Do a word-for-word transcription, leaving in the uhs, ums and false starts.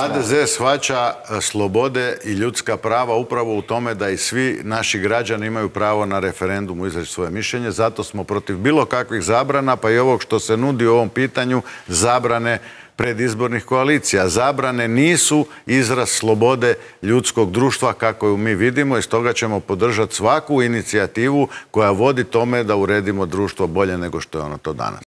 ha de ze shvaća slobode i ljudska prava upravo u tome da i svi naši građani imaju pravo na referendumu izreći svoje mišljenje. Zato smo protiv bilo kakvih zabrana, pa i ovog što se nudi u ovom pitanju, zabrane predizbornih koalicija. Zabrane nisu izraz slobode ljudskog društva kako ju mi vidimo i stoga ćemo podržati svaku inicijativu koja vodi tome da uredimo društvo bolje nego što je ono to danas.